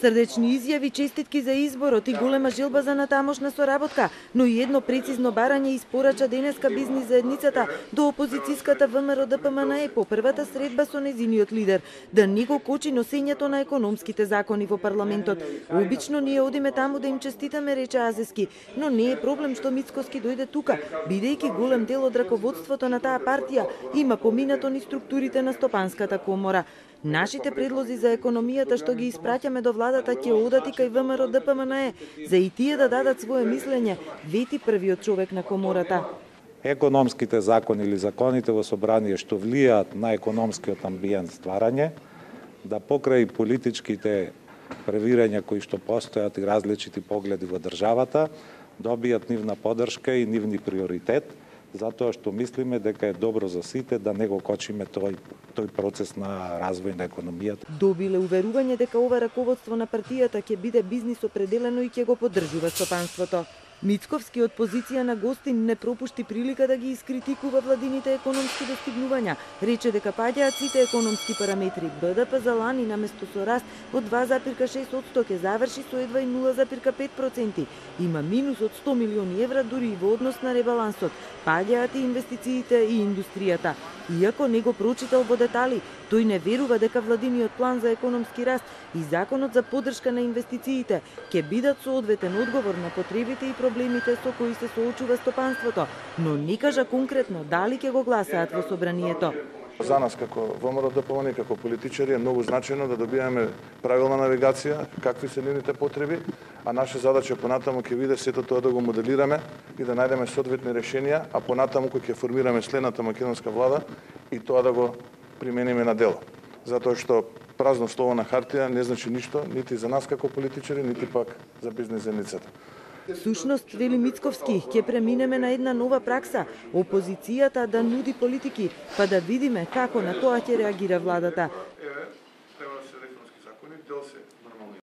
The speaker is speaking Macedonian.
Срдечни изјави, честитки за изборот и голема желба за натамошна соработка, но и едно прецизно барање испорача денеска бизнис заедницата до опозицијската ВМРО ДПМНЕ по првата средба со незиниот лидер, да не го кочи носењето на економските закони во парламентот. Обично ние одиме таму да им честитаме, рече Азески, но не е проблем што Мицковски дојде тука, бидејќи голем дел од раководството на таа партија има поминато низ структурите на Стопанската комора. Нашите предлози за економијата што ги испраќаме до владата ќе одат и кај ВМРО ДПМНЕ, за и тие да дадат свое мислење, вети првиот човек на комората. Економските закони или законите во собрание што влијаат на економскиот амбиент стварање, да покрај политичките превирања кои што постојат и различити погледи во државата, добијат нивна поддршка и нивни приоритет, затоа што мислиме дека е добро за сите да не го кочиме тој процес на развој на економијата. Добиле уверување дека ова раководство на партијата ќе биде бизнис определено и ќе го поддржува стопанството. Мицковски од позиција на гостин не пропушти прилика да ги искритикува владините економски достигнувања. Рече дека паѓаат сите економски параметри. БДП за лани наместо со раст од 2,6% ќе заврши со едва и 0,5%. Има минус од 100 милиони евра дури и во однос на ребалансот. Паѓаат и инвестициите и индустријата. Иако не го прочитал во детали, тој не верува дека владиниот план за економски раст и законот за поддршка на инвестициите ќе бидат соодветен одговор на потребите и проблемите со кои се соочува стопанството, но не кажа конкретно дали ќе го гласаат во собранието. За нас како ВМРО ДПМНЕ, како политичари е многу значајно да добиваме правилна навигација, какви се нивните потреби, а наша задача понатаму ќе биде сето тоа да го моделираме и да најдеме соодветни решенија, а понатаму кој ќе формираме следната македонска влада и тоа да го примениме на дело. Затоа што празно слово на хартија не значи ништо, нити за нас како политичари, нити пак за бизнес заедницата. Сушност, вели Мицковски, ќе преминеме на една нова пракса, опозицијата да нуди политики, па да видиме како на тоа ќе реагира владата.